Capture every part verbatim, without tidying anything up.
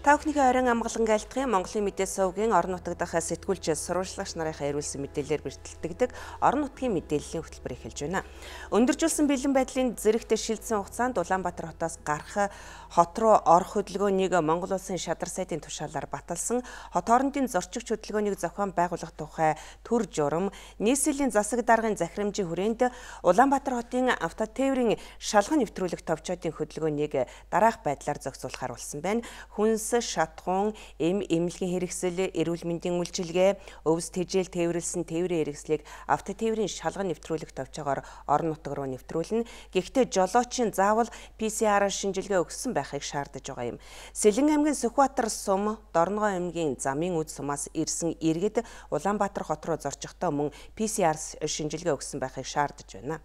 Та бүхний оройн амгалан айлтгын Монголын мэдээ сувгийн орон нутаг дахь сэтгүүлч сурвалжлагч нарынхаа ирүүлсэн мэдээлэлээр бэртэлдэг орон нутгийн мэдээллийн хөтөлбөр эхэлж байна. Өндөржүүлсэн бэлэн байдлын зэрэгт шилжсэн хугацаанд Улаанбаатар хотоос гарах хот руу орох хөдөлгөөнийг Монгол улсын шадар сайдын тушаалаар баталсан хот хоорондын зорчигч хөдөлгөөнийг зохион байгуулах тухай төр журам нийслэлийн засаг даргын захирамжийн хүрээнд Улаанбаатар хотын автотээврийн шалган нэвтрүүлэх товчоодын хөдөлгөөнийг дараах байдлаар зохицуулахар болсон байна. Хүнс, шатгуун, эм эмнэлгийн хэрэгсэл, эрүүл мэндийн үйлчилгээ, өвс тэжээл тээвэрлсэн тээврийн хэрэгслийг автотээврийн шалган нэвтрүүлэх товчоогоор орон нутаг руу нэвтрүүлнэ. Гэхдээ жолоочийн заавал пи си ар шинжилгээ өгсөн байхыг шаардаж байгаа юм. Сэлэн аймгийн Сүхбаатар сум, Дорногоо аймгийн Замын үд сумаас ирсэн иргэд Улаанбаатар хот руу зорчихдоо мөн пи си ар шинжилгээ өгсөн байхыг шаардаж байна.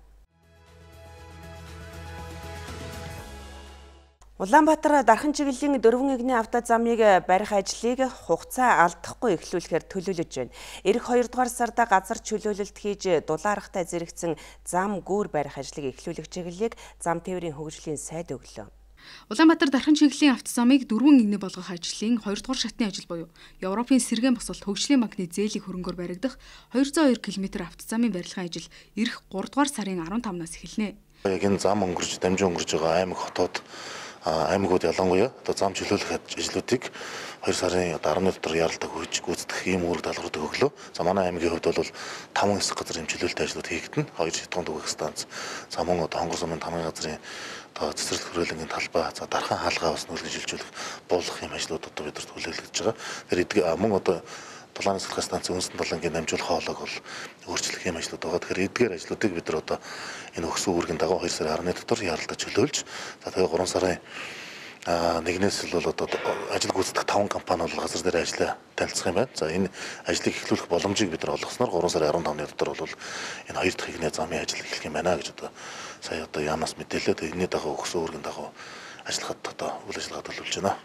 Улаанбаатар дархан чиглэлийн дөрвөн игний автозамыг барих ажлыг хугацаа алдахгүй эхлүүлэхээр төлөвлөж байна. Ирэх хоёрдугаар сард газар чөлөөлөлт хийж дулаарахтай зэрэгцэн зам гүүр барих ажлыг эхлүүлэх чиглэлийг зам тээврийн хөгжлийн сайд өглөө. Улаанбаатар дархан чиглэлийн автозамыг дөрвөн игний болгох ажлын хоёрдугаар шатны ажил буюу Европын сэргээн босолт хөгжлийн банкны зээлийн хөрөнгөөр баригдах двести two километр автозамын барилгын ажил ирэх гуравдугаар сарын fifteen-наас эхэлнэ. Яг энэ зам өнгөрч дамжин өнгөрж байгаа аймаг хотод аймагуд ялангуяа одоо зам чөлөөлөх ажлуудыг two сарын eleven дотор яралдаг хүйж гүйцэтгэх ийм үүрэг даалгаврыг өглөө. За манай аймгийн хувьд бол five хэсэг газрын чөлөөлөлт ажлууд хийгдэнэ. two шатгуун түгээх станц, за мөн одоо хонгор сумын тамгын газрын одоо цэцэрлэг хүрээлэнгийн талбай, за дархан хаалгаа бас нүүлгэн шилжүүлэх буулгах юм ажлууд одоо бидэрт хүлээлгэж байгаа. Тэр эдгээр мөн одоо Дулааны сэлхэ станцын үндэстэн далангийн дамжуулах хоолойг бол өөрчлөх юм ажлууд байгаа. Тэгэхээр эдгээр ажлуудыг бид нар одоо энэ өгсөн үүргийн дагуу two сарын eleven дотор яралдаж чөлөөлж, за тэгээ three сарын нэгнээс л бол одоо ажил гүйцэтгэх five компани бол газар дээр ажиллаа танилцах юм байна. За энэ ажлыг эхлүүлэх боломжийг бид нар олгосноор three сарын fifteen дотор бол энэ хоёр дахь игний замын ажил эхлэх юм байна гэж одоо сая одоо яамнаас мэдээлээд энэний дагуу өгсөн үүргийн дагуу ажиллахад одоо үйл ажиллагаа төлөвлөж байна.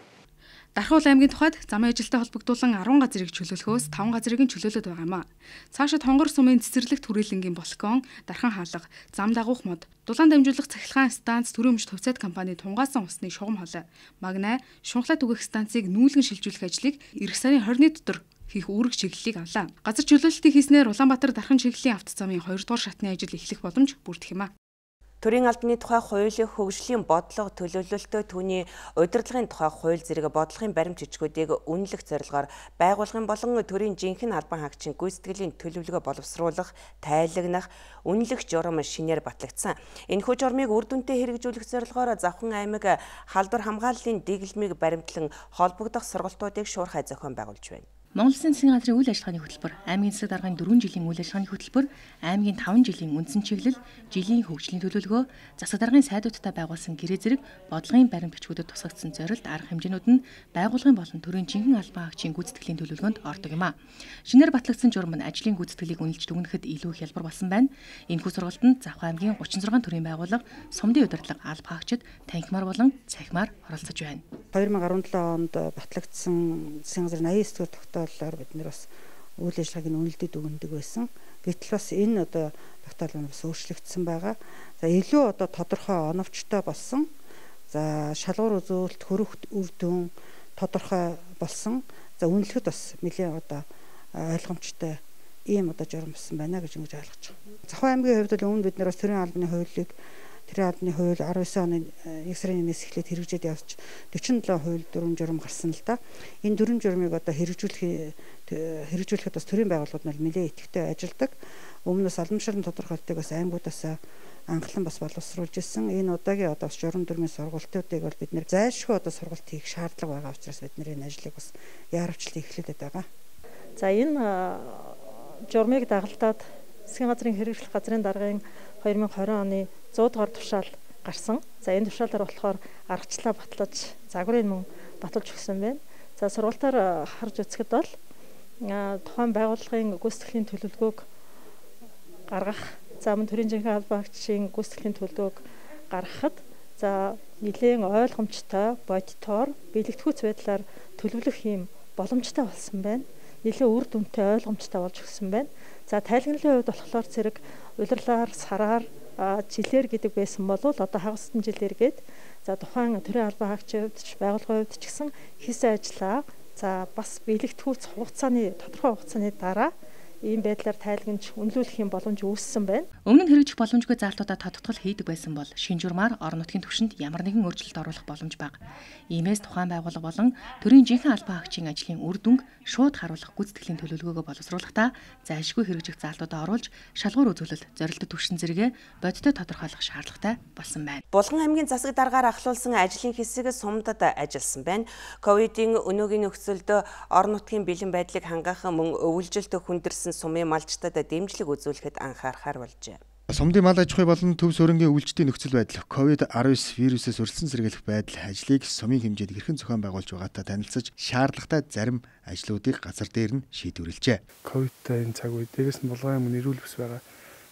Дархан аймгийн тухайд замын ажилтай холбогдуулан ten газрыг чөлөөлөхөөс five газрыг нь чөлөөлөд байгаа юм а. Цаашид хонгор сумын цэцэрлэгт хүрээлэнгийн балкон, дархан хаалга, зам дагуух мод, дулаан дамжуулах цахилгаан станц, төрийн өмч төвцөд компани тунгаасан усны шугам холой, магнай, шунхлаа түгэх станцыг нүүлгэн шилжүүлэх ажлыг эх сарын twenty дотор хийх үүрэг чиглэлийг авлаа. Газар чөлөөлөлтийг хийснээр Улаанбаатар дархан чиглэлийн автозамын two-дугаар шатны ажил эхлэх боломж бүрдэх юм а. Төрийн албаны тухай хууль, хөгжлийн бодлого төлөвлөлтөө түүний удирдлагын тухай хууль зэрэг бодлогын баримт жижигүүдийг үнэлэх зорилгоор байгуулгын болон төрийн жинхэнэ албан хаагчийн гүйцэтгэлийн төлөвлөгөө боловсруулах, тайлагнах, үнэлэх журам шинээр батлагдсан. Энэхүү журмыг үр дүнтэй хэрэгжүүлэх зорилгоор Завхан аймаг халдвар хамгааллын дэглэмийг баримтлан холбогдох сургалтуудыг шуурхай зохион байгуулж байна. Монгол Улсын засгийн газрын үйл ажиллагааны хөтөлбөр, аймгийн засаг даргын four жилийн үйл ажиллагааны хөтөлбөр, аймгийн five жилийн үндсэн чиглэл, жилийн хөгжлийн төлөвлөгөө, засаг даргын сайдуудтай байгуулсан гэрээ зэрэг бодлогын баримт бичгүүдэд тусгагдсан зорилт арга хэмжээнүүд нь байгуулгын болон төрийн жинхэнэ албан хаагчийн гүйцэтгэлийн төлөвлөгөөнд ордог юм а. Шинээр батлагдсан журам нь ажлын гүйцэтгэлийг үнэлж дүгнэхэд илүү их хялбар болсон байна. Энэхүү сургалтанд Завхан аймгийн thirty-six төрийн байгууллага, сумдын удирдлага, албан хаагчид, танхимаар болон цахимаар оролцож байна. twenty seventeen онд батлагдсан засгийн газрын eighty-nine дугаар тогтооллоор бид нэр бас үйл ажиллагааг нь үнэлдэд өгнөдөг байсан. Гэтэл бас энэ одоо тогтоол нь бас өөрчлөгдсөн байгаа. За илүү одоо тодорхой оновчтой болсон. За шалгуур үзүүлэлт хөрөх үр дүн тодорхой болсон. За үнэлэхэд бас нэлээд одоо ойлгомжтой ийм одоо журам болсон байна гэж ингэж ойлгож байгаа. Завхан аймгийн хувьд л өмнө бид нэр бас төрийн албаны хуулийг Тэрийн албаны хууль nineteen оны one сарын one-ээс эхлээд хэрэгжээд явж forty-seven хууль дөрвөн журам гарсан л да. Энэ дөрвөн журмыг одоо хэрэгжүүлэх хэрэгжүүлэхэд бас төрийн байгууллагууд нь нэлээд идэвхтэй ажилладаг. Өмнөөс албан тушаалын тодорхойлтыг бас аймагуудаас анхлан бас боловсруулж ирсэн. Энэ удаагийн одоо бас журам дүрмийн сургалтуудыг бол бид нэр зайлшгүй одоо сургалт хийх шаардлага байгаа учраас бид нэр энэ ажлыг бас яарвчлан эхлүүлээд байгаа. За энэ журмыг дагалдаад засгийн газрын хэрэгжлэх газрын даргын twenty twenty оны one hundred дугаар тушаал гарсан. За энэ тушаалаар болохоор аргачлалаа батлаж, загварыг мөн баталж өгсөн байна. За сургалтаар харж үзэхэд бол тухайн байгууллагын гүйцэтгэлийн төлөвлөгөөг гаргах, за мөн төрийн жинхэнэ албан хаагчийн гүйцэтгэлийн төлөвлөгөөг гаргахад за нэлээд ойлгомжтой, бодитоор, биелэгдэхүйц байдлаар төлөвлөх юм боломжтой болсон байна. Нэлээд үр дүнтэй, ойлгомжтой болж өгсөн байна. За тайлагналын хувьд болохоор зэрэг улирлаар, сараар, жилээр гэдэг байсан бол одоо хагасдан жилээр гээд За тухайн төрийн албан хаагчийн хувьд ч байгууллагын хувьд ч гэсэн хийсэн ажлаа за бас биелэгдэхүүц хугацааны тодорхой хугацааны дараа ийм байдлаар тайлгнаж үнэлүүлэх юм боломж үүссэн байна. Өмнө нь хэрэгжих боломжгүй заалтуудаа тодтогдол хийдэг байсан бол шинэ журмаар орон нутгийн түвшинд ямар нэгэн өөрчлөлт оруулах боломж бага. Иймээс тухайн байгууллага болон төрийн жинхэнэ албан хаагчийн ажлын үр дүнг шууд харуулах гүйцэтгэлийн төлөвлөгөөгөө боловсруулахдаа зайлшгүй хэрэгжих заалтуудаа оруулж шалгуур үзүүлэлт, зорилттой түвшин зэрэгэ бодиттой тодорхойлох шаардлагатай болсон байна. Булган аймгийн засаг даргаар ахлуулсан ажлын хэсэг сумдад ажилласан байна. Ковидын өнөөгийн нөхцөлд орон нутгийн бэлэн байдлыг хангах мөн өвөлжилт хүндэрсэн сумын малчтад дэмжлэг үзүүлэхэд анхаарахар болжээ. Сумдын мал аж ахуй болон төв суурингийн өвөлжтийн нөхцөл байдал ковид дасавал вирусээс өрсөлдсөн сэргийлэх байдал ажлыг сумын хэмжээнд хэрхэн зохион байгуулж байгаатай танилцаж шаардлагатай зарим ажлуудыг газар дээр нь шийдвэрлэжээ. Ковидтай энэ цаг үед дээрээс нь булган аймаг нэрүүл бүс байгаа.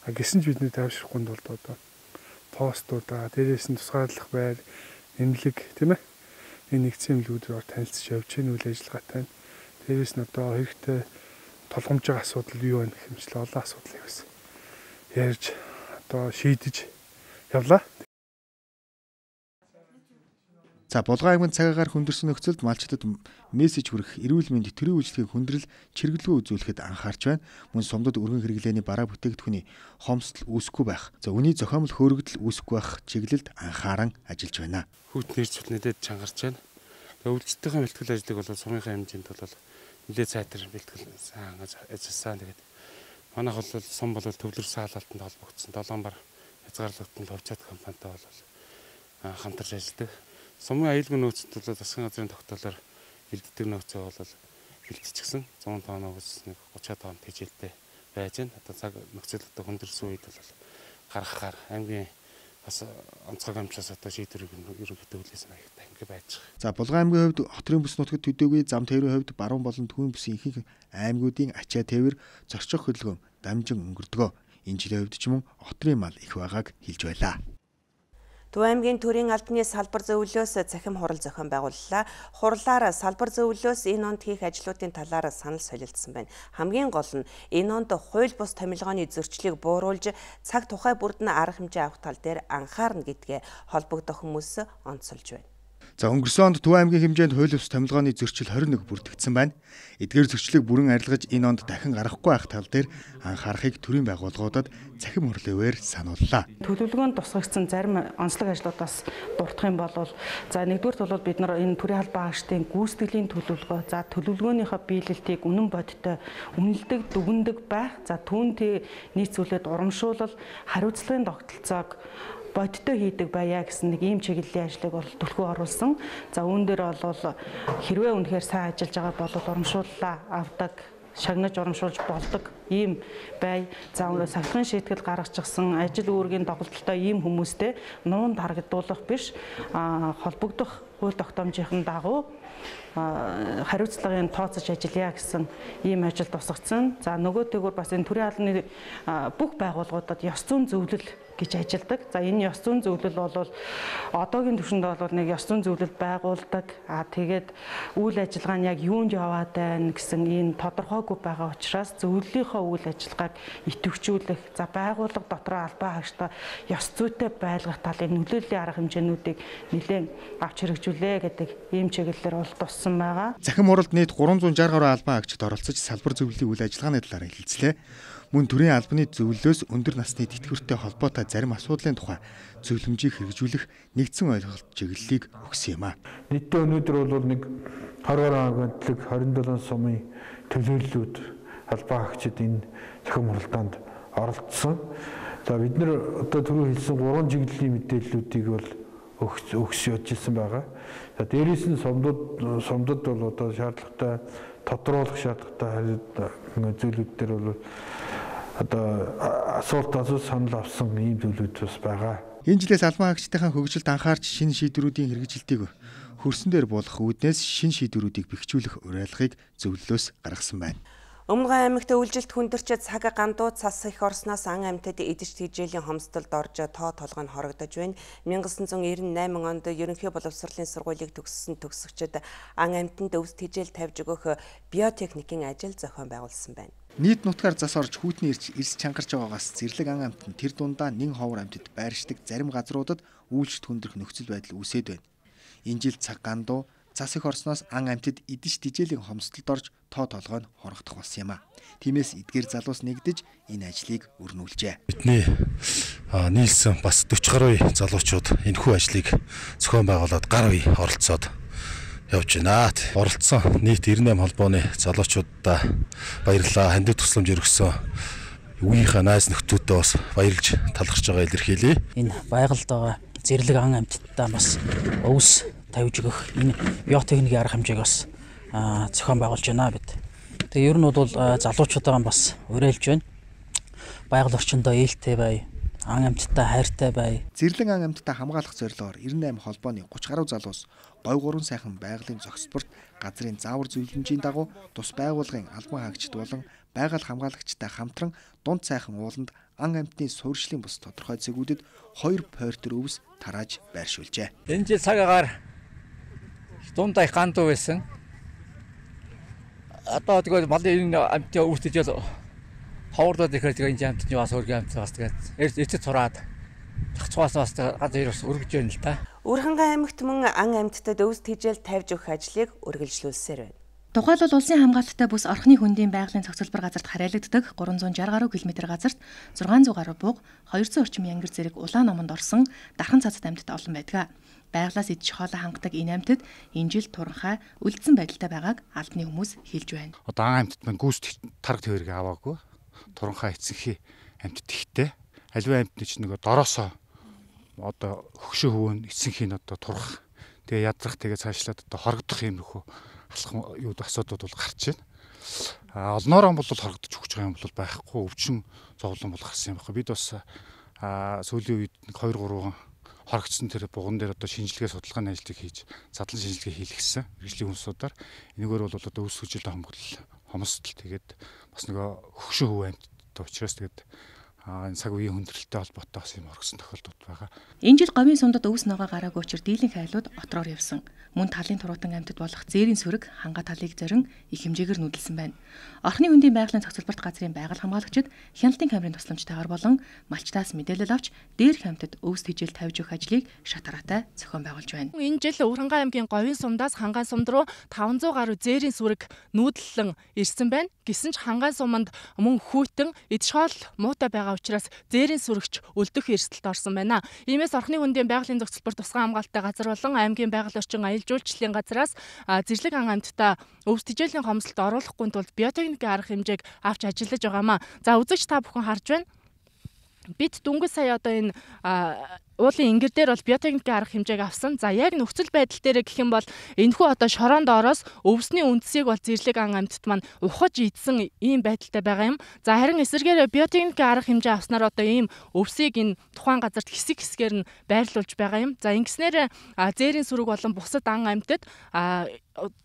А гэсэн ч бидний тайвшрахгүй тулд одоо постуудаа дээрээс нь тусгаарлах байр, эмнэлэг тийм ээ. Энэ нэгдсэн эмнэлгүүдээр танилцж явж гэн үйл ажиллагаатай. Дээрээс нь одоо хэрэгтэй толгомж байгаа асуудал юу вэ гэх юмчлээ олон асуудлыг бас ярьж одоо шийдэж явлаа. За булган аймгийн цагаагаар хүндэрсэн нөхцөлд малчтад мессеж хүргэх, эрүүл мэнд төрийн үйлчлэгийн хүндрэл чиргэлгүй үзүүлэхэд анхаарч байна. Мөн сумдад өргөн хэрэглээний бараа бүтээгдэхүүний хомсдол үүсэхгүй байх. За үний зохиомл хөөрөгдөл үүсэхгүй байх чиглэлд анхааран ажиллаж байна. Хүүт нэр зүтнэдэд чангарч байна. Өвөлжтөхийн бэлтгэл ажлыг бол сумынхаа хэмжээнд бол нэлээд сайтар бэлтгэл сайн ажилласан. Тэгээд манайх бол сум бол төвлөр саалалтанд холбогдсон долоон бар хязгаарлалтанд хувьцаат компанитай бол хамтарч ажилладаг. Сумын аюулгүй нөөцөд бол засгийн газрын тогтоолоор бэлддэг нөөцөө бол бэлтчихсэн. зуун тонноос нэг гучин тонн тэжээлтэй байж байна. Одоо цаг нөхцөл одоо хүндэрсэн үед бол гаргахаар аймгийн бас онцгой амжаас одоо шийдвэрийг ерөнхийдөө хүлээсэн аягтай ингэ байж байгаа. За булган аймгийн хувьд хотын бүс нутагт төдийгүй зам тээврийн хувьд баруун болон түүхэн бүсийн ихэнх аймагуудын ачаа тээвэр зорчих хөдөлгөөн дамжин өнгөрдгөө. Энэ жилийн хувьд ч мөн хотын мал их байгааг хэлж байлаа. Төв аймгийн төрийн албаны салбар зөвлөлөөс цахим хурал зохион байгууллаа. Хурлаар салбар зөвлөлөөс энэ онд хийх ажлуудын талаар санал солилцсон байна. Хамгийн гол нь энэ онд хууль бус томилгооны зөрчлийг бууруулж цаг тухай бүрд нь арга хэмжээ авах тал дээр анхаарна гэдгээ холбогдох хүмүүс онцолж байна. За өнгөрсөн онд Төв аймгийн хэмжээнд хууль бус томилгооны зөрчил хорин нэг бүртгэгдсэн байна. Эдгээр зөрчлийг бүрэн арилгаж энэ онд дахин гарахгүй байх тал дээр анхаарахыг төрийн байгууллагуудад цахим хурлын санууллаа. Төлөвлөгөөнд тусгагдсан зарим онцлог ажлуудаас дурдах юм бол за нэгдүгürt бол бид нар энэ төрийн албан хаагчдын гүйцэтгэлийн төлөвлөгөө за төлөвлөгөөнийхөө биелэлтийг үнэн бодиттой үнэлдэг, дүгндэг байх. За түүнтэй нийцүүлээд урамшуулал, хариуцлагын тогтолцоог бодиттой хийдэг байя гэсэн нэг ийм чиглэлийн ажлыг бол төлхөө оруулсан. За үүн дээр бол хэрвээ үнэхээр сайн ажиллаж байгаа бол урамшууллаа авдаг, шагнаж урамшуулж болдог ийм бай. За өөрөө сахилгын шийтгэл гаргачихсан ажил үүргийн тоглолттой ийм хүмүүстэй нуун таргадуулах биш, холбогдох хууль тогтоомжийн дагуу хариуцлагын тооцож ажиллая гэсэн ийм ажил тусгацсан. За нөгөөтэйгүр бас энэ төрийн албаны бүх байгууллагуудад ёс зүйн зөвлөл гэж ажилдаг. За энэ ёс зүйн зөвлөл бол одоогийн түвшинд бол нэг ёс зүйн зөвлөл байгуулдаг. А тэгээд үйл ажиллагаа нь яг юунд яваад байна гэсэн энэ тодорхойгүй байгаа учраас зөвлөлийнхөө үйл ажиллагааг идэвхжүүлэх, за байгууллага дотроо албан хаагчдаа ёс зүйтэй байлгах талын нөлөөллийн арга хэмжээнүүдийг нэлээд авч хэрэгжүүлээ гэдэг ийм чиглэлээр бол туссан байгаа. Захим хуралд нийт гурван зуун шарх гаруй албан хаагчид оролцож салбар зөвлөлийн үйл ажиллагааны талаар хэлэлцлээ. Мөн төрийн албаны зөвлөлөөс өндөр насны тэтгэвртэй холбоотой зарим асуудлын тухай зөвлөмжийг хэрэгжүүлэх нэгдсэн ойлголт чиглэлийг өгсөн юм а. Нийтдээ өнөөдөр бол нэг хорвор агентлаг хорин долоон сумын төлөөллүүд албан хаагчид энэ захим хуралдаанд оролцсон. За бид нар одоо түрүү хэлсэн гурван чиглэлийн мэдээллүүдийг бол өгс явж ирсэн байгаа. За дээрээс нь сумдад сумдад бол одоо шаардлагатай тодруулах шаардлагатай зүйлүүд дээр бол одоо асуулт асууж санал авсан ийм зүйлүүд бас байгаа. Энэ жилээс албан хаагчдын хөгжилд анхаарч шинэ шийдвэрүүдийн хэрэгжилтийг хөрсөн дээр буулгах үүднээс шинэ шийдвэрүүдийг бэхжүүлэх уриалгыг зөвлөлөөс гаргасан байна. Өмнөгөн аймагт өвөлжилт хүндэрч цаг гандуу цас их орсноос ан амьтад идэж тэжээлийн хомсдолд орж тоо толгой нь хорогдож байна. найман девятьсот девяносто восемь онд ерөнхий боловсролын сургуулийг төгссөн төгсөгчид ан амьтанд өвс тэжээл тавьж өгөх биотехникийн ажил зохион байгуулсан байна. Нийт нутгаар зас орж хүүтний ирж ирс чангарч байгаагаас зэрлэг ан амьтад тэр дундаа нэн ховор амьтад байршдаг зарим газруудад үйлчлэлт хүндрэх нөхцөл байдал үүсээд байна. Энэ жил цаг гандуу цас их орсноос ан амьтад идэж тижээлийн хомсдолд орж тоо толгой нь хорогдох болсон юм а. Тиймээс эдгээр залуус нэгдэж энэ ажлыг өрнүүлжээ. Бидний нийлсэн бас дөрвөн гаруй залуучууд энэхүү ажлыг зохион байгуулад гар үе оролцоод явж байна. Оролцсон нийт девять холбооны залуучуудаа баярлалаа. Хандив тусламж өргөсөн үеийнхээ найз нөхдүүдээ бас баярлж талархж байгаа илэрхийлье. Энэ байгальд байгаа зэрлэг ан амьтдаа бас өвс тавьж өгөх энэ биотехникийн арга хэмжээг бас зохион байгуулж байна бид. Тэгээ ер нь бол залуучуудаа бас уриалж байна. Байгаль орчиндөө ээлтэй бай, ан амьтдаа хайртай бай. Зэрлэг ан амьтдаа хамгаалах зорилгоор девять холбооны гуравч гаруй залуус говь гурван сайхан байгалийн зохисторт газрын заавар зөвлөмжийн дагуу тус байгууллагын албан хаагчид болон байгаль хамгаалагчтай хамтран дунд сайхан ууланд ан амьтны суурьшлийн бус тодорхой зэгүүдэд хоёр пойртер өвс тарааж байршуулжээ. Энэ жил цаг агаар дундаа их гандуу байсан. Одоо тэгээд малын амьтны өвсөж ховордод ихээр тэгээд энэ амьтны бас өргөн амьтны бас тэгээд эцэд сураад зохицоос бас газар бас өргөж байна л та. Өрхангай аймагт мөн ан амьтдад өвс тэжээл тавьж өгөх ажлыг үргэлжлүүлсээр байна. Тухайлбал улсын хамгаалалттай бүс орхны хөндийн байгалийн цогцлбор газарт харьяалагддаг гурван зуун шалгал гаруй километр газарт зургаан зуун гаруй бууг, двести орчим янгир зэрэг улаан номонд орсон дархан цацад амьтад олон байдаг. Байгалаас идэж хоолой хангадаг энэ амьтад энэ жил туранхай үлдсэн байдалтай байгааг албаны хүмүүс хэлж байна. Одоо ан амьтад маань гүйс тарга төвөргөө аваагүй. Туранхай эцэнхий амьтад ихтэй. Аливаа амьтны ч нөгөө дороосоо одоо хөгшөө хөвөн эцэнхий нь одоо турах. Тэгээ ядрах тэгээ цаашлаад одоо хорогдох юмрхүү алах юу асуудууд бол гарч байна. А олноороо бол хорогдож өгч байгаа юм бол байхгүй өвчин зовлон бол гарсан юм байна. Бид бас сүүлийн үед хоёр гурван хорогдсон тэр буган дээр одоо шинжилгээ судалгааны ажлыг хийж задлан шинжилгээ хийлгэсэн. Мэргэжлийн хүнсүүдээр энэгээр бол одоо өвс хүчил хамгаалал хомсдол тэгээд бас нөгөө хөгшөө хөв амьтад учраас тэгээд энэ цаг үеийн хүндрэлтэй холбоотой бас юм оргсон тохиолдол байгаа. Энэ жил говийн сумдад өвс ногоо гараагүй учир дийлэнх айлууд отроор явсан. Мөн талын туруутан амьтад болох зээрийн сүрэг ханга талыг зорин их хэмжээгээр нүүдэлсэн байна. Орхны хөндийн байгалийн цогцлборт газрын байгаль хамгаалагчид хяналтын камерын тусламжтайгаар болон малчтаас мэдээлэл авч дээрх амьтад өвс тэжээл тавьж өгөх ажлыг шатараатай зохион байгуулж байна. Энэ жил Өрхангай аймгийн говийн сумдаас Хангаан сумд руу таван зуун гаруй зээрийн сүрэг нүүдэллэн ирсэн байна. Гэсэн ч Хангаан суманд мөн хүйтэн идшоол муутай байгаа учраас зээрийн сүрэгч өлдөх эрсдэлд орсон байна. Иймээс орхны хөндийн байгалийн цогцлбор тусгай хамгаалалттай газар болон аймгийн байгаль орчин аялал жуулчлалын газраас зэрлэг ан амьтдаа өвс тэжээлийн хомсдолд оруулахгүй тулд биотехникийн арга хэмжээг авч ажиллаж байгаамаа. За үзэгч та бүхэн харж байна. Бид дөнгөж сая одоо энэ уулын ингэр дээр бол биотехникийн арга хэмжээг авсан. За яг нөхцөл байдал дээр гэх юм бол энэхүү одоо шороонд ороос өвсний үндсийг бол зэрлэг ан амьтад маань ухаж идсэн ийм байдалтай байгаа юм. За харин эсвэргээр биотехникийн арга хэмжээ авснаар одоо ийм өвсийг энэ тухайн газарт хэсэг хэсгээр нь байрлуулж байгаа юм. За ингэснээр зээрийн сүрэг болон бусад ан амьтад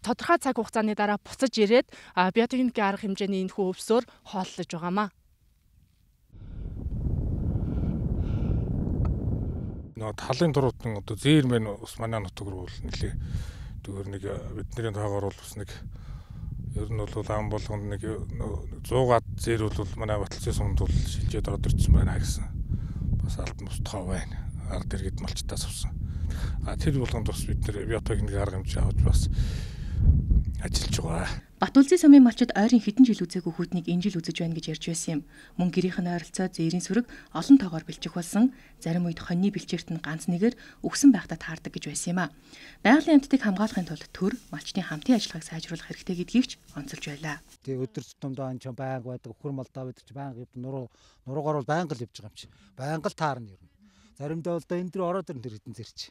тодорхой цаг хугацааны дараа буцаж ирээд биотехникийн арга хэмжээний энэхүү өвсөөр хооллож байгаамаа. Нөө талын туруутан одоо зээр мэн ус манай нутаг руу нэлээ зүгээр нэг бидний тоогоор бол бас нэг ер нь бол ам болгонд нэг сто зээр бол манай баталцын сумд бол шилжээд ороод ирсэн байна гэсэн бас албан бус тоо байна. Ард иргэд малчтаас авсан. А тэр болгонд бас бид нэр биотехникийн арга хэмжээ авч бас ажиллаж байгаа. Батулзын сумын малчид ойрын хэдэн жил үзээгүй хүүтнийг энэ жил үзэж байна гэж ярьж байсан юм. Мөн гэрийнх нь ойролцоо зээрийн сүрэг олон тоогоор бэлчих болсон. Зарим үед хоньны бэлчээрт нь ганц нэгээр өгсөн байхдаа таардаг гэж байсан юм а. Байгалийн амьтдыг хамгаалахын тулд төр малчдын хамтын ажиллагааг сайжруулах хэрэгтэй гэдгийг ч онцолж байлаа. Тэг өдөр тутамдаа энэ ч байнга байдаг өхөр молдоо байдаг ч байнга нуруу нуруугаар бол байнга л явж байгаа юм чи. Байнга л таарна юм. Заримдаа бол энэ дэр ороод ирэн тэр хэдэн зэрч.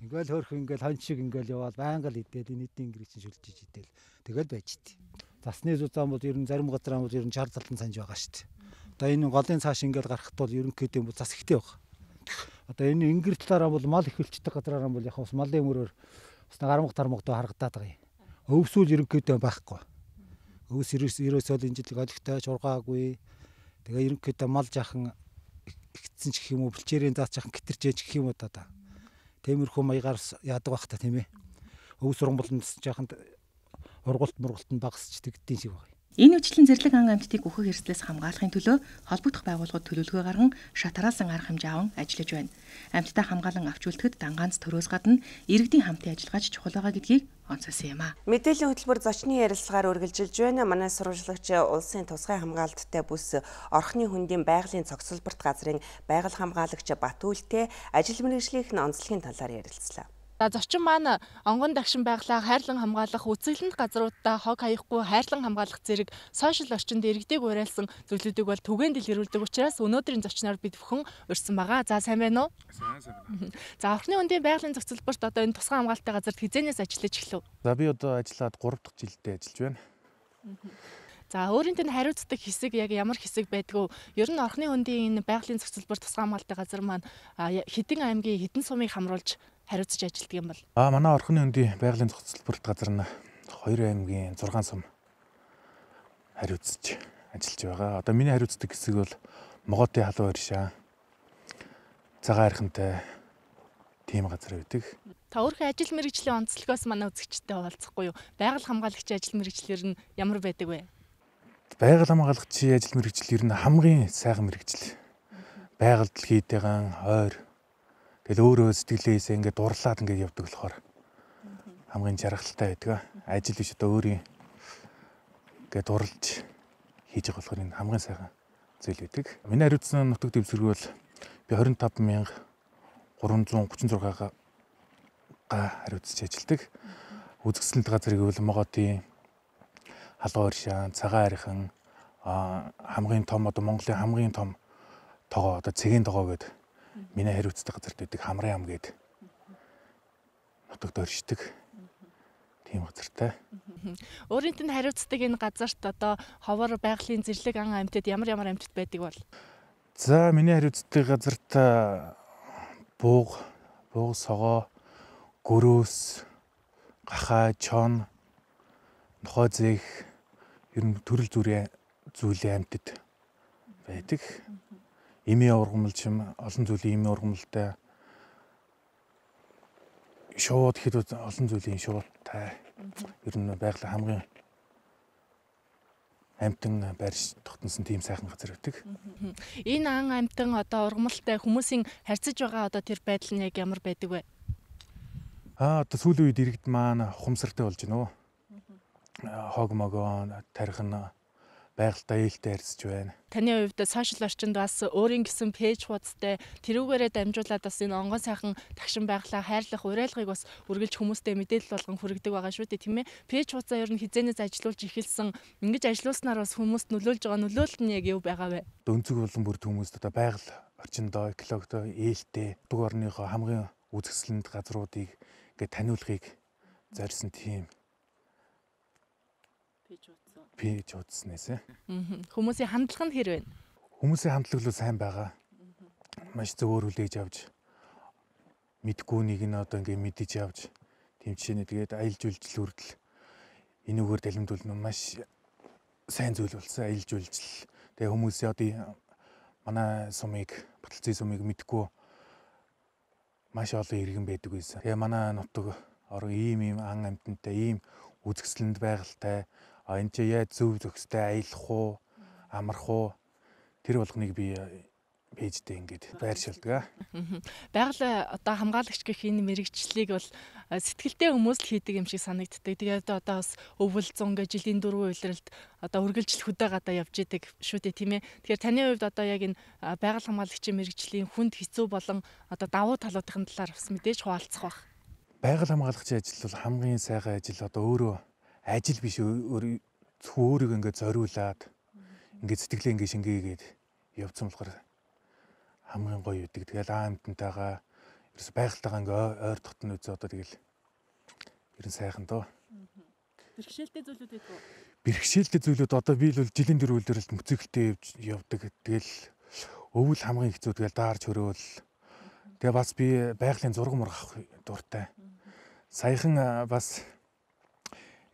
Ингээл хөөрх ингээл хон шиг ингээл яваад байнга л идэл энэ эдийн гэрээ чинь шүлжиж идэл тэгэл байж тээ. Засны зузаан бол ер нь зарим газар бол ер нь шаардлага талтан санаж байгаа шүү дээ. Одоо энэ голын цааш ингээл гарахт бол ерөнхийдөө бол зас ихтэй баг. Одоо энэ ингэр талаараа бол мал ихвэлчдэг газараараа бол яг бас малын өмөрөөр бас гарамга тармагдаа харагдаад байгаа юм. Өвсүүл ерөнхийдөө байхгүй. Өвс ерөөсөө энэ жил олигтой шургаагүй. Тэгээ ерөнхийдөө мал жаахан ихтсэн ч гэх юм уу бэлчээрийн заач жаахан гитэрчээж гэх юм уу одоо. Тиймэрхүү маягаар яадаг байх та тийм ээ. Өвс уран болонд жаахан ургуулт мургуулт нь багасч тэгдэж шиг байна. Энэ үечлэн зэрлэг ан амьтдыг үхэх эрсдлээс хамгаалахын төлөө холбогдох байгууллагууд төлөвлөгөө гарган шатараасан арга хэмжээ аван ажиллаж байна. Амьтдаа хамгаалan авч үлдэхэд дангаанц төрөөс гадна иргэдийн хамтын ажиллагаач чухал байгаа гэдгийг онцолсон юм а. Мэдээллийн хөтөлбөр зочны ярилцлагаар үргэлжилж байна. Манай сурвалжлагч улсын тусгай хамгаалалттай бүс Орхны хөндийн байгалийн цогцлборт газрын байгаль хамгаалагч Батүлтэй ажил мэргэжлийнх нь онцлогийн талаар ярилцлаа. За зочин маань онгон дагшин байглаа хайрлан хамгаалах, үзэсгэлэнт газруудаа хог хаяхгүй хайрлан хамгаалах зэрэг сошиал орчинд иргэдийг уриалсан зүйлүүдийг бол түгээн дэлгэрүүлдэг учраас өнөөдрийн зочноор бид бүхэн урьсан байгаа. За сайн байна уу? Сайн сайн байна. За Орхны хөндийн байгалийн цогцлборт одоо энэ тусгай хамгаалалттай газарт хизээнээс ажиллаж эхлэв? За би одоо ажиллаад гурав дахь жилдээ ажиллаж байна. За өөрийн тэнд хариуцдаг хэсэг яг ямар хэсэг байдгүй. Ер нь Орхны хөндийн энэ байгалийн цогцлбор тусгай хамгаалалттай газар маань хэдэн аймгийн хэдэн сумыг хамруулж хариуцж ажилладаг юм бол. Аа манай Орхны хөндийн байгалийн цогцлборт газар нь хоёр аймгийн зургаан сум хариуцж ажиллаж байгаа. Одоо миний хариуцдаг хэсэг бол Моготын халуун иршаа, цагаан архинтай тийм газар байдаг. Та өөрхөн ажил мэргэжлийн онцлогоос манай үзэгчтэй хуваалцахгүй юу? Байгаль хамгаалагчийн ажил мэргэжлэр нь ямар байдаг вэ? Байгаль хамгаалагчийн ажил мэргэжил ер нь хамгийн сайхан мэргэжил. Байгаль дэлхийдээгэн ойр тэгэл өөрөө сэтгэлээсээ ингээд дурлаад ингээд явдаг болохоор хамгийн жаргалтай байдаг. Ажил биш одоо өөрийн ингээд дурлж хийж байгаа болохоор энэ хамгийн сайхан зүйл байдаг. Миний хариуцсан нутаг дэвсгэр бол би двадцать и пять мянга гурван зуун гучин зургаага хариуцж ажилдаг. Үзэсгэлэнт газрыг бол Моготын халуун иршаа, цагаан архин хамгийн том одоо Монголын хамгийн том тогоо одоо цэгийн тогоо гэдэг миний хариуцдаг газарт байдаг Хамрын ам гээд нутагт оршдог тийм газартай. Өөрийн тэнд хариуцдаг энэ газарт одоо ховор байгалийн зэрлэг ан амьтад ямар ямар амьтад байдаг бол? За миний хариуцдаг газарт бууг, бууг согоо, гөрөөс, гахаа, чон, нохой зээх ер нь төрөл зүрийн зүйлийн амьтад байдаг. Эмийн ургамалч юм олон зүйлийн эмийн ургамалтай шууд хэд олон зүйлийн шуудтай ер нь байгаль хамгийн амьтан байрш тогтносон тийм сайхан газар байдаг. Энэ ан амьтан одоо ургамалтай хүмүүсийн харьцаж байгаа одоо тэр байдал нь яг ямар байдаг вэ? Аа одоо сүүлийн үед иргэд маань ухамсартай болж байна уу? Хог могоо тарих нь байгальтай ээлтэй харьцаж байна. Таны хувьд сошиал орчинд бас өөрийн гэсэн пэйж хуудастай тэрүүгээрээ дамжуулаад бас энэ онгон сайхан тагшин байглаа хайрлах уриалгыг бас үргэлж хүмүүстэй мэдээлэл болгон хүргэдэг байгаа шүү дээ, тийм ээ. Пэйж хуудасаа ер нь хизээнээс ажиллуулж эхэлсэн. Ингэж ажиллуулснаар бас хүмүүст нөлөөлж байгаа нөлөөлөл нь яг юу байгаа вэ? Өнцөг болон бүрд хүмүүст одоо байгаль орчиндөө экологтой ээлтэй дуг орныхоо хамгийн үзэсгэлэнт газруудыг ингээд таниулахыг зорьсон тийм пэйж хуудаснаас. Хүмүүсийн хандлага нь хэр вэ? Хүмүүсийн хандлага л сайн байгаа. Маш зөвөр хүлээж авч мэдгүй нэг нь одоо ингээд мэдэж авч тийм жишээний тэгээд аялал жуулчлал хүртэл энүүгээр далимдуулна маш сайн зүйл болсон. Аялал жуулчлал. Тэгээ хүмүүсийн одоо манай сумыг, Баталцын сумыг мэдгүй маш олон иргэн байдаг байсан. Тэгээ манай нутаг орон ийм ийм ан амьтантай, ийм үзэсгэлэнт байгальтай энэ чи яаж зөв зөвхөстэй аялах уу, амарх уу тэр болгоныг би пэйжтэй ингээд байршуулдаг. Байгаль одоо хамгаалагч гэх энэ мэрэгчлийг бол сэтгэлтэй хүмүүс л хийдэг юм шиг санагддаг. Тэгээд одоо бас өвөл зун гэж жилийн дөрвөн үйлрэлд одоо үргэлжил хөдөө гадаа явж идэг шүү дээ, тийм ээ. Тэгэхээр таны хувьд одоо яг энэ байгаль хамгаалагчийн мэрэгжлийн хүнд хэцүү болон одоо давуу талуудын талаар бас мэдээж хуваалцах баг. Байгаль хамгаалагчийн ажил бол хамгийн сайхан ажил. Одоо өөрөө ажил биш өөр зөвхөн өөрийгөө ингээд зориулаад ингээд сэтгэлээ ингээд шингээгээд явцсан болохоор хамгийн гоё үүдэг. Тэгэл аа амьтантайгаа ерөөс байгальтайгаа ингээд ойр дотн үзээ одоо тэгэл ерэн сайхан доо. Бэрхшээлтэй зүйлүүд байдаг уу? Бэрхшээлтэй зүйлүүд одоо би л жилийн дөрөв үйлрэлт мөцөглөлтөө явдаг. Тэгэл өвөл хамгийн хэцүү тэгэл даарч хөрөөл. Тэгээ бас би байгалийн зураг мурах дуртай. Саяхан бас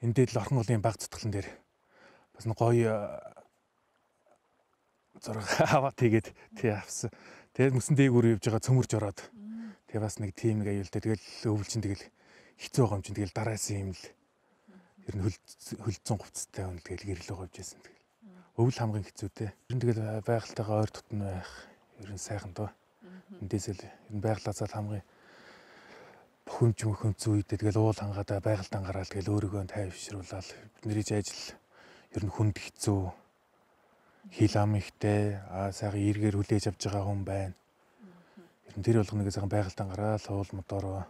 энэ дээл Орхон голын баг цутгалан дээр бас гоё зураг аваад тэгээд тий авсан. Тэгээд мөсөн дээгүүр явж байгаа цөмөрж ороод тэгээ бас нэг тийм нэг аюултай тэгэл өвөл чинь тэгэл хэцүү байгаа юм чинь тэгэл дараасан юм л ер нь хөлдсөн хувцастай хүн тэгэл гэрлөө говж байсан тэгэл. Өвөл хамгийн хэцүү дээ. Ер нь тэгэл байгальтайгаа ойр дотн байх ер нь сайхан доо. Эндээсэл ер нь байгалаасаа хамгийн бохомж мөхөмц үедээ тэгэл уул хангаадаа байгальтан гараад тэгэл өөрийгөө тайвшруулаад бидний ажил ер нь хүнд хэцүү хил ам ихтэй аа сайхан эргээр хүлээж авч байгаа хүн байна. Ер нь тэр болгоныг сайхан байгальтан гараад уул мотороо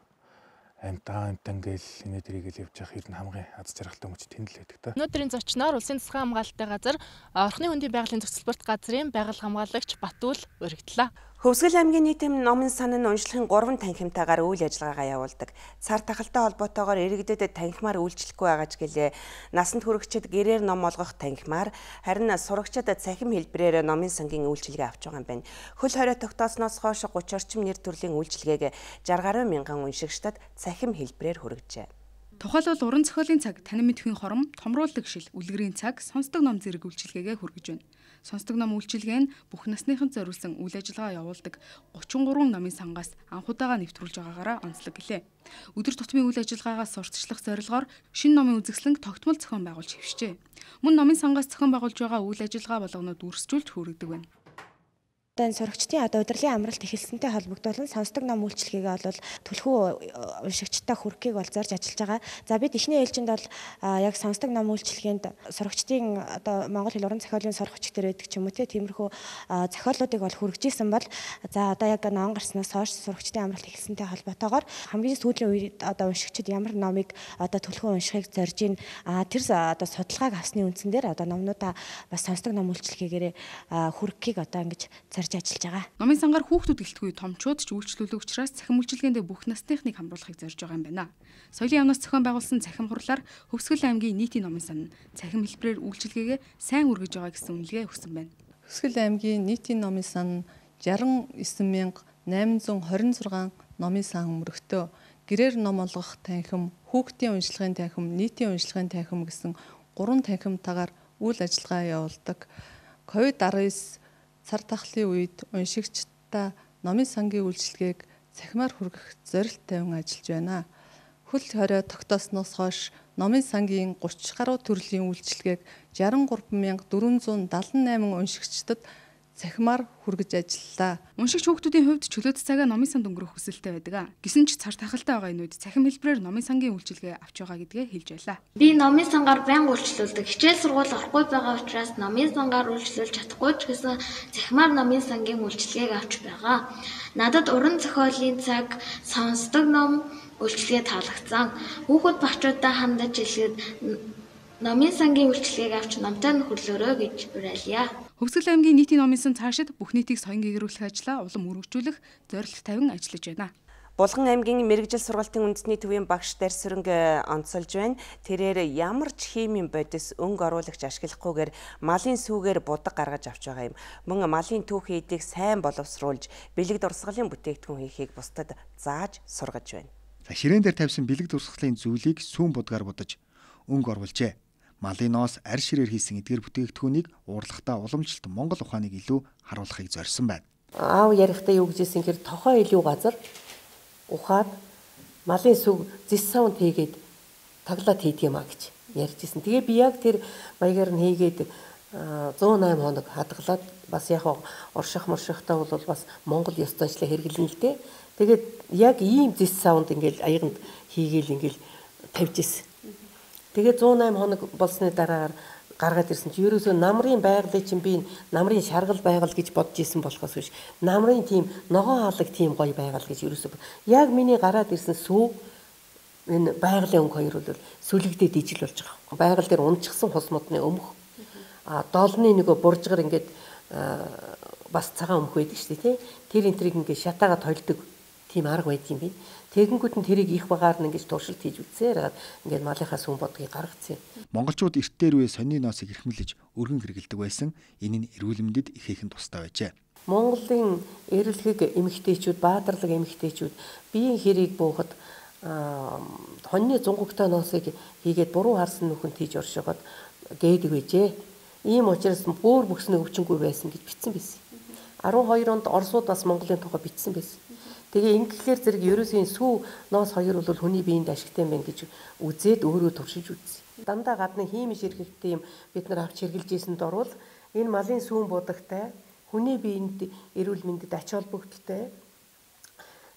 амтаа амтан гээл энэ дэрийг л явж явах ер нь хамгийн аз жаргалтай мөч тэнд л байдаг та. Өнөөдрийн зочноор Улсын засгийн хамгаалалттай газар Орхны хөндийн байгалийн зохицол спорт газрын байгаль хамгаалагч Батүл өргөдлөө. Хөвсгөл аймгийн нийтэм номын сан нь уншлахын гурван танхимтайгаар үйл ажиллагаагаа явуулдаг. Цар тахалтай холбоотойгоор иргэдэд танхимаар үйлчлэхгүй байгаа ч гэлээ. Насанд хүрэхчид гэрээр ном олгох танхимаар, харин сурагчид цахим хэлбэрээр номын сангийн үйлчилгээ авч байгаа юм байна. Хөл хорой тогтоосноос хойш гуч орчим нэр төрлийн үйлчилгээг шарх гаруй мянган уншигчдад цахим хэлбэрээр хүргэжээ. Тухайлбал уран зохиолын цаг, танин мэдхийн хором, томруулдаг шил, үлгэрийн цаг, сонсдог ном зэрэг үйлчилгээгээ хүргэж байна. Сонсдог ном үйлчилгээ нь бүх насныханд зориулсан үйл ажиллагаа явуулдаг гучин гурван номын сангаас анхудаага нэвтрүүлж байгаагаараа онцлог гэлээ. Өдөр тутмын үйл ажиллагаагаас сурталчлах зорилгоор шинэ номын үзэсгэлэнг тогтмол зохион байгуулж хэвшжээ. Мөн номын сангаас зохион байгуулж байгаа үйл ажиллагаа болгонууд үрсжүүлж хүргэдэг байна. Одоо сурагчдын одоо удирдлагын амралт эхэлсэнтэй холбогдуулан сонсдог ном үйлчилгээгээ бол түлхүү уншигчтай хүрхийг бол зорж ажиллаж байгаа. За бид эхний ээлжинд бол яг сонсдог ном үйлчилгээнд сурагчдын одоо Монгол хэл уран зохиолын сурах хүчтэй байдаг ч юм уу тиймэрхүү зохиолуудыг бол хүргэжсэн бол за одоо яг ном гарснаас хойш сурагчдын амралт эхэлсэнтэй холбоотойгоор хамгийн сүүлийн үед одоо уншигчид ямар номыг одоо түлхүү уншихыг зорж ийн тэр одоо судалгааг авсны үндсэн дээр одоо номнуудаа бас сонсдог ном үйлчилгээгээрээ хүрхийг одоо ингэж ажиллаж байгаа. Номын сангаар хүүхдүүд гэлтгүй томчууд ч үйлчлүүлэх учраас цахим үйлчилгээндээ бүх насныхныг хамруулахыг зорж байгаа юм байна. Соёлын яамнаас зохион байгуулсан цахим хурлаар Хөвсгөл аймгийн нийтийн номын сан цахим хэлбэрээр үйлчилгээгээ сайн үргэж байгаа гэсэн үнэлгээ өгсөн байна. Хөвсгөл аймгийн нийтийн номын сан шарх девять мянга найман зуун хорин зургаан номын сан өмөрөгтөө гэрээр ном олгох танхим, хүүхдийн уншлагын танхим, нийтийн уншлагын танхим гэсэн гурван танхимтайгаар үйл ажиллагаа явуулдаг. ковид десятtoгаыз цар тахлын үед уншигчдаа номын сангийн үйлчилгээг цахимаар хүргэх зорилт тавин ажиллаж байна. Хөл хорой тогтоосноос хойш номын сангийн гуч гаруй төрлийн үйлчилгээг шарх гурван мянга дөрвөн зуун дадлан найман уншигчдад цахимаар хүргэж ажиллалаа. Уншигч хүүхдүүдийн хувьд чөлөөт цагаа номын санд өнгөрөх хүсэлтэй байдаг. Гэсэн ч цар тахалтай байгаа энэ үед цахим хэлбэрээр номын сангийн үйлчилгээ авч байгаа гэдгээ хэлж байлаа. Би номын сангаар байнга үйлчлүүлдэг. Хичээл сургууль орохгүй байгаа учраас номын сангаар үйлчлүүлж чадахгүй ч гэсэн цахимаар номын сангийн үйлчилгээг авч байгаа. Надад уран зохиолын цаг, сонсдог ном үйлчилгээ таалагдсан. Хүүхэд багчуудаа хандаж хэлгээд номын сангийн үйлчилгээг авч номтой нь хөрлөөрэй гэж уриалъя. Хөвсгөл аймгийн нийтийн номын сан цаашид бүх нийтийг соён гээгрүүлэх ажлаа улам өргөжүүлэх зорилт тавин ажиллаж байна. Булган аймгийн мэрэгжил сургалтын үндэсний төвийн багш Дарь Сүрэнг онцолж байна. Тэрээр ямар ч химийн бодис өнгө оруулагч ашиглахгүйгээр малын сүүгээр будаг гаргаж авч байгаа юм. Мөн малын түүх хийдийг сайн боловсруулж, бэлэг дурсгалын бүтээгдэхүүн хийхийг бусдад зааж сургаж байна. Ширээн дээр тавьсан бэлэг дурсгалын зүйлийг сүүн будгаар будаж өнгө оруулжээ. Малын ноос арь ширээр хийсэн эдгээр бүтээгдэхүүнийг уурлахтаа уламжлалт Монгол ухааныг илүү харуулахыг зорьсон байна. Аав ярихтаа юу гэжсэн хэр тохоо илүү газар ухаад малын сүг зис саунд хийгээд таглаад хийдэг юм а гэж ярьжсэн. Тэгээ би яг тэр маягаар нь хийгээд зуун найман хоног хадгалаад бас яг орших моршихтаа бол бас Монгол ёс заншлаа хэрэглэн л дээ. Тэгээд яг ийм зис саунд ингээл аяганд хийгээл ингээл тавьж ирсэн. Тэгээ зуун найман хоног болсны дараагаар гаргаад ирсэн чи ерөөсөө намрын байгалыг чинь би намрын шаргал байгаль гэж бодож исэн болохоос биш. Намрын тийм ногоон хаалаг тийм гоё байгаль гэж ерөөсөө яг миний гараад ирсэн сүү энэ байгалийн өнгө хоёр бол сүлэгдээд ижил болж байгаа. Байгаль дээр унчихсан хус модны өмх. А доолны нөгөө буржгар ингээд бас цагаан өмх байдаг шүү дээ тий. Тэр энтрийг ингээд шатаагаад толдог тийм арга байдаг юм байна. Тэгэнгүүт нь тэрийг их багаар нь ингэж туршилт хийж үзсээр ингээд малынхаа сүм бодгийг гаргацсан. Монголчууд эрт дээр үе сонины ноосыг эрхэмлэж өргөн хэрэгэлдэг байсан. Энэ нь эрүүл мэндэд ихээхэн тустай байжээ. Монголын эрэлхэг эмэгтэйчүүд, баатарлаг эмэгтэйчүүд биеийн хэрийг буухад хоньны зунгогтой ноосыг хийгээд буруу харсан нүхэнд хийж оршиход гээдэг байжээ. Ийм учраас бүр бүхснээ өвчнгүй байсан гэж бичсэн байсан. арван хоёр онд Оросууд бас Монголын тухай бичсэн байсан. Тэгээ ингэхлээр зэрэг ерөөсөө сүү ноос хоёр бол хүний биеинд ашигтай байна гэж үзээд өөрөө туршиж үзье. Дандаа гадны хиймиш эрхэгтэй юм бид нар авч хэрглэж ийсэнд орвол энэ малын сүүн будагтай хүний биеинд эрүүл мэндэд ач холбогдолтой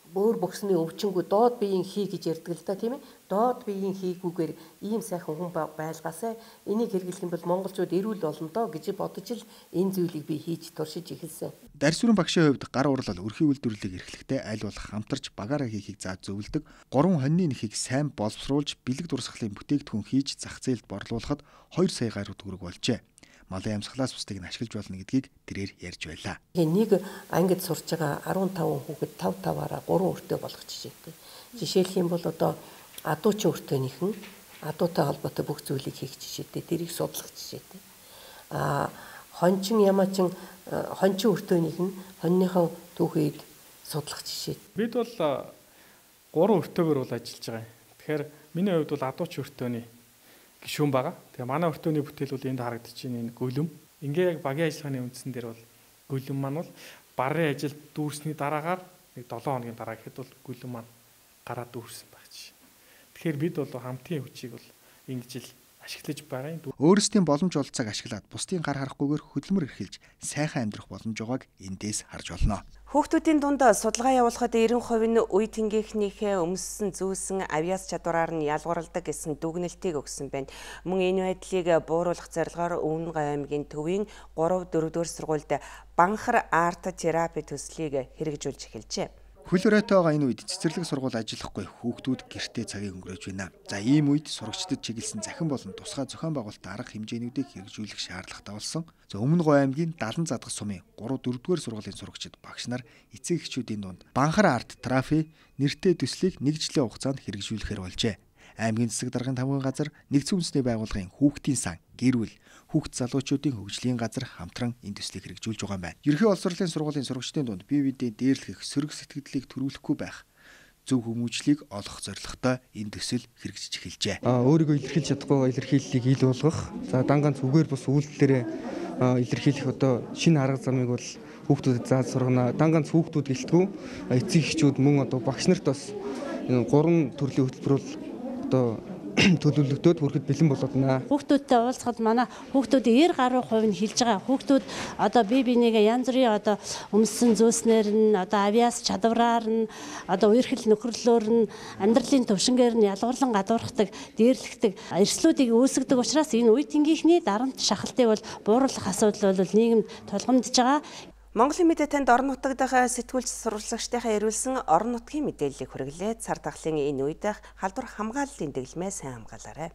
бөөр бөхсний өвчнгүү доод биеийн хий гэж ярьдаг л да тийм ээ. Доод биеийн хийгүүгээр ийм сайхан хүн байлгаасаа энийг хэрэглэх юм бол монголчууд эрүүл болно доо гэж бодож л энэ зүйлийг би хийж туршиж эхэлсэн. Дарьсүрэн багшийн хувьд гар урлал өрхийн үйлдвэрлэлийг эрхлэхдээ аль болох хамтарч багаараа хийхийг зааж зөвлөдөг. Гурван хоньны нэхийг сайн боловсруулж бэлэг дурсгалын бүтээгдэхүүн хийж зах зээлд борлуулахад хоёр сая гаруй төгрөг болжээ. Малын амьсгалаас бусдыг нь ашиглаж болно гэдгийг тэрээр ярьж байлаа. Нэг ангид сурч байгаа арван таван хүүхэд тав таваараа гурван өртөө болгох жишээтэй. Жишээлх юм бол одоо адуучин өртөөнийхэн адуутай холбоотой бүх зүйлийг хийх жишээтэй, тэрийг судлах жишээтэй. А хончин ямаачин хончин өртөөнийх нь хоньныхоо түүхийг судлах жишээ. Бид бол гурван өртөөгөр бол ажиллаж байгаа юм. Тэгэхээр миний хувьд бол адуучин өртөөний гишүүн байгаа. Тэгээ манай өртөөний бүтээл бол энд харагдаж байна энэ гүлэм. Ингээ яг багийн ажиллагааны үндсэн дээр бол гүлэм маань бол барын ажил дүүрсний дараагаар нэг долоон хоногийн дараа гэхэд бол гүлэм маань гараад дүүрсэн байх чинь. Тэгэхээр бид бол хамтын хүчийг бол ингэж л ашиглаж байгаа юм. Өөрсдийн боломж олцоог ашиглаад бусдын гар харахгүйгээр хөдөлмөр эрхэлж сайхан амьдрах боломж байгааг эндээс харж болно. Хүүхдүүдийн дунд судалгаа явуулахад ninety percent нь үе тэнгийнхнийхээ өмссөн зүүсэн авиас чадвараар нь ялгуурладаг гэсэн дүгнэлтийг өгсөн байна. Мөн энэ байдлыг бууруулах зорилгоор Өвөн аймгийн төвийн three four дугаар сургуульд банхар арт терапи төслийг хэрэгжүүлж эхэлжээ. Хөл өрөөтэй байгаа энэ үед цэцэрлэг сургууль ажиллахгүй хүүхдүүд гэртээ цагийг өнгөрөөж байна. За ийм үед сурагчдад чиглэсэн захин болон тусгай зохион байгуулалтын арга хэмжээнүүдийг хэрэгжүүлэх шаардлагатай болсон. За Өмнө Говь аймгийн Далан задгах сумын three four дугаар сургуулийн сурагчид багш нар эцэг эхчүүдийн дунд банхар арт терапи нэртэй төслийг нэг жилийн хугацаанд хэрэгжүүлэхээр болжээ. Аймгийн засаг даргын тамгын газар, нэгдсэн үндэсний байгууллагын хүүхдийн сан, гэр бүл, хүүхд залуучуудын хөгжлийн газар хамтран энэ төслийг хэрэгжүүлж байгаа юм байна. Ерхий улс хурлын сургуулийн сурагчдын дунд бие биедээ дээрлэх сөрөг сэтгэлдлийг төрүүлэхгүй байх, зөв хүмүүжлийг олох зорилготой энэ төсөл хэрэгжиж эхэлжээ. Аа өөрийгөө илэрхийлж чадахгүй илэрхийллийг ил болгох, за дангаан зүгээр бус үйлдэлээрээ илэрхийлэх одоо шинэ арга замыг бол хүүхдүүдэд зааж сургана. Дангаан хүүхдүүд гэлтгүү эцэг эхчүүд мөн одоо багш нарт бас энэ гурван төрлийн хөтөлбөр бол одоо төлөвлөгдөөд хүрэхэд бэлэн болоод байна. Хүүхдүүдтэй уулзахад манай хүүхдүүдийн ninety percent нь хэлж байгаа. Хүүхдүүд одоо бие бинийгээ янз бүрийн одоо өмссөн зөөснөр нь одоо авиас чадвараар нь одоо үерхэл нөхөрлөөр нь амьдралын төвшингээр нь ялгуурлан гадуурхдаг, дээрлэгдэг эрсдлүүдийг үүсгдэг учраас энэ үе тэнгийнхний дарамт шахалтыг бол бууруулах асуудал бол нийгэмд тулгамдж байгаа. Монголын мэдээ танд орон нутаг дахь сэтгүүлч сурвалжлагчдынхаа ирүүлсэн орон нутгийн мэдээллийг хүргэлээ. Цар тахлын энэ үед халдвар хамгааллын дэглэмээ сайн хамгаалаарай.